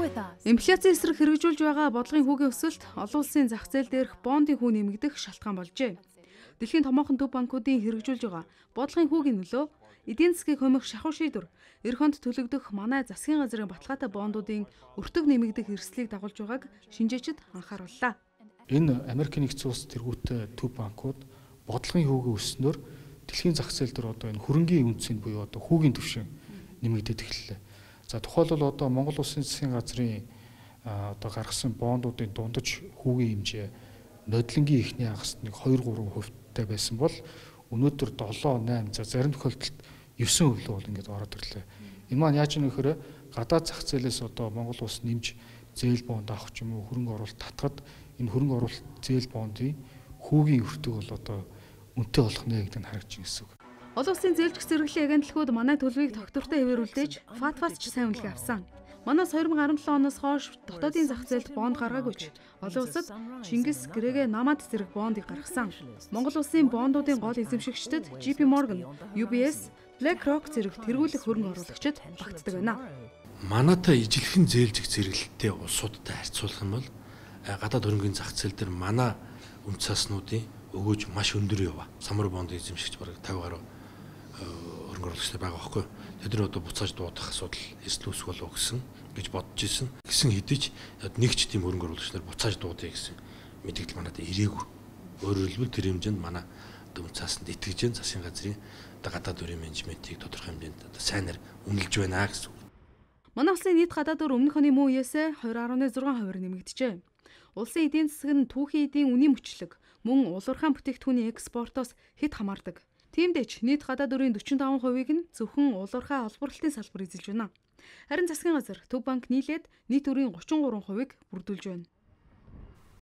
Инфляцийн эсрэг хэрэгжүүлж байгаа бодлогын хүүгийн өсөлт олон улсын зах зээл дээрх бондын хүү нэмэгдэх шалтгаан болжээ. Дэлхийн томоохон төв банкуудын хэрэгжүүлж байгаа бодлогын хүүгийн нөлөө, эдийн засгийг хумих шахуу шийдвэр, эх хонд төлөгдөх манай засгийн газрын баталгаатай бондуудын өртөг нэмэгдэх эрсдлийг дагуулж байгааг шинжээчид анхаарууллаа. Энэ Америкийн нэгдсэн улс тэргүүтэй төв банкуд бодлогын хүүгийн өснөөр дэлхийн зах зээл дээр одоо энэ хөрөнгийн үнцийн буюу одоо хүүгийн түвшин нэмэгдээд эхэллээ. За тухайлбал одоо Монгол Улсын засгийн газрын одоо гаргасан бондуудын дундаж хүүгийн хэмжээ нодлонгийн эхний хагасны 2-3% байсан бол өнөөдөр 7-8 за зарим тохиолдолд 9% бол ингээд ороод ирлээ. Энэ маань яаж юм гэхээр гадаад зах зээлээс одоо Монгол улс нэмж зээл бонд авах ч юм уу хөрөнгө оруулалт татхад энэ хөрөнгө оруулалт зээл бондын хүүгийн өртөг бол одоо үнэтэй болох нэ гэдэг нь харагдаж байна гэсэн үг. Олон улсын зээлжих зэрэглэлийн агентлагууд манай төлөвийг тогтвортой хэвээрүүлдэж ФАТФ-аас ч сайн үнэлгээ авсан. Манайс 2017 оноос хойш дотоодын зах зээлд бонд гаргаагүй ч олон улсад Чингис, Грегэ, Намад зэрэг бондыг гаргасан. Монгол улсын бондуудын гол эзэмшигчдэд JP Morgan, UBS, BlackRock зэрэг тэргүүлэх хөрөнгө оруулагчид багтдаг байна. Манайтай ижилхэн зээлжих зэрэглэлтэй улсуудтай харьцуулах юм бол гадаад хөрөнгөний зах зээл дээр манай үн цааснуудын өгөөж маш өндөр яваа. Самар бондын эзэмшигч бараг 50 гаруй хөрөнгө оруулагчтай байгаа байхгүй. Тэд нар одоо буцааж дуудах асуудал эсэл үүсэх болов гэсэн гэж бодож исэн. Гэсэн хэдий ч нэг ч тийм хөрөнгө оруулагч нар буцааж дуудъя гэсэн мэдээлэл манайд ирээгүй. Өөрөөр хэлбэл тэр хэмжээнд манай үн цаасанд итгэж जैन засгийн газрын гадаад өрийн менежментийг тодорхой хэмжээнд сайнаар үнэлж байна гэсэн. Манай улсын нийт гадаад өр өмнөх оны мөн үеэс 2.6% нэмэгдэжээ. Улсын эдийн засаг нь түүхийн эдийн үнийн мөчлөг мөн улуурхайн бүтээгдэхүүний экспортоос хэд хамаардаг. Тиймдээч нийт гадаад өрийн 45%-ийг нь зөвхөн улуурхай олборлолтын салбар эзэлж байна. Харин засгийн газар Төв банк нийлээд нийт өрийн 33%-ийг бүрдүүлж байна.